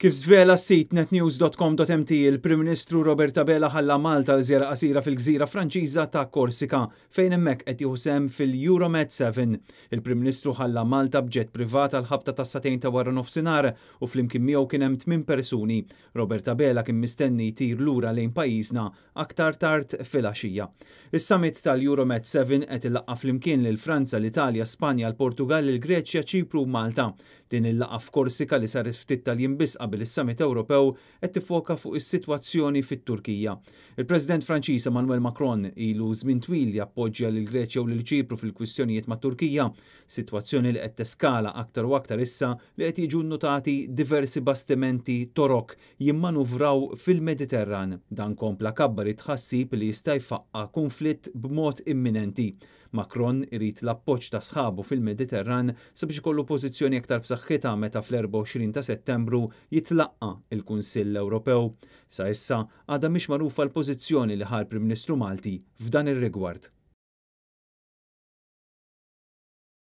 Kif żvela s-sit netnews.com.mt, il-Prim Ministru Robert Abela ħalla Malta għal żjara qasira fil-gżira Franċiża ta' Korsika, fejn hemmhekk qed jieħu sehem fil-Euromed 7. Il-Prim Ministru ħalla Malta b'ġett privat għall-ħabta tas-sagħtejn ta' waranofsinhar u flimkien miegħu kien hemm tminn persuni. Robert Abela kien mistenni jtir lura lejn pajjiżna aktar tard filgħaxija. Is-summit tal-Euromed 7 qed ilaqqa' flimkien lil Franza, l-Italja, Spanja, l-Portugall, il-Greċja, Ċipru u Malta. Din il-laqgħa f'Korsika li saret ftit tal-jiem biss qabel is-summit Ewropew qed tiffoka fuq is-sitwazzjoni fit-Turkija. Il-President Franċiż Emmanuel Macron ilu żmien twil jappoġġja lill-Greċja u lil Ċipru fil-kwistjonijiet mat-Turkija, sitwazzjoni li qed teskala aktar u aktar issa li qed jiġu nnutati diversi bastimenti Torok jimmanuvraw fil-Mediterran. Dan kompla kabbar it-tħassib li jista' jfaqqa' kunflitt b'mod imminenti. Macron irid l-appoġġ ta' sħabu fil-Mediterran sabiex ikollu pożizzjoni aktar b'saħħitha meta fl-24 ta' Settembru jitlaqqa' il-Kunsill Ewropew. Sa issa għadha mhix magħrufa l-pożizzjoni li ħa l-Prim Ministru Malti f'dan ir-rigward.